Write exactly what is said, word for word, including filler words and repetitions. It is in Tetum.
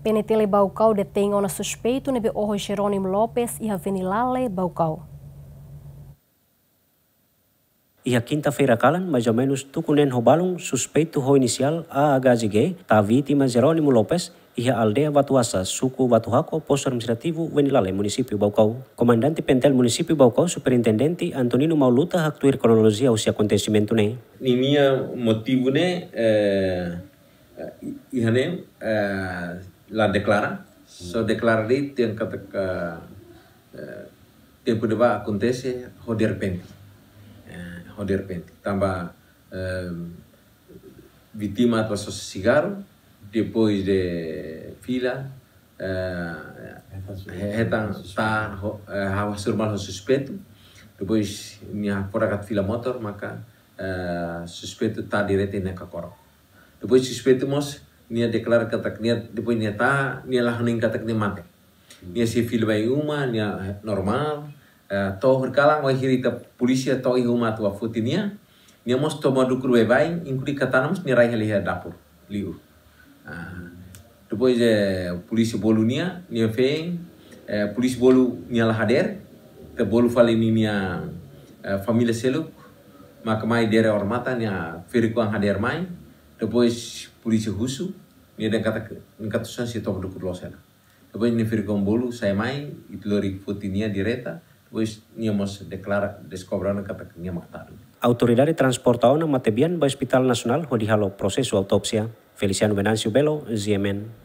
PNTL Baucau detein ona suspeitu ne'ebé oho Jerónimo Lopes iha Venilale, Baucau. Iha kinta-feira kalan, mais ou menus tuku neen ho balun, suspeitu ho inisiál A H G, tau vítima Jerónimo Lopes, iha aldeia Batuasa, suku Batuhako, postu administrativu Venilale, munisípiu Baucau. Komandante PNTL munisípiu Baucau, Superintendente Antonino Mauluta, haktuir kronolojia husi akontesimentu ne'e. Ninia motivu ne'e, eh, eh, iha ne'e, eh, la deklara. Só deklara de'it dehan katak, eh, tempu ne'ebá akontese ho derrepente. Eh, ho derrepente. Tanba, eh, vítima atu sosa sigarru, depois de fila, eh, hetan suspe-, hetan suspe-, ta ho, eh, ha'u hasoru malu ho suspeitu. Depois nia fora kat fila motor, maka, eh, suspeitu tau direta iha nia kakorok. Depois suspeitu mós nia deklara katak nia, depois nia tau, nia la hanoin katak nia mate. Nia sei fila ba iha uma, nia, eh, normál. Eh, to'o horikalan, wainhira ita polísia to'o iha uma atu bá foti nia, nia mós toma dukur baibain, inklui katana mós nia rai hela iha dapur liur. Ah, depois, eh, polísia bolu nia, nia feen, eh, polísia bolu nia la hadeer, ita bolu fali ninia, eh, família seluk, maka mai dere odamatan, nia ferik-oan hadeer mai, depois polísia husu, nia dehan katak, nia katak só sei toma dukur loos hela. Depois nia ferik-oan bolu sai mai, ita lori foti nia direta, depois nia mós deklara, deskobre ona katak nia mak tadu. Autoridade transporta ona matebian ba Hospital Nasionál hodi halo prosesu autópsia. Feliciano Venâncio Belo, G M N.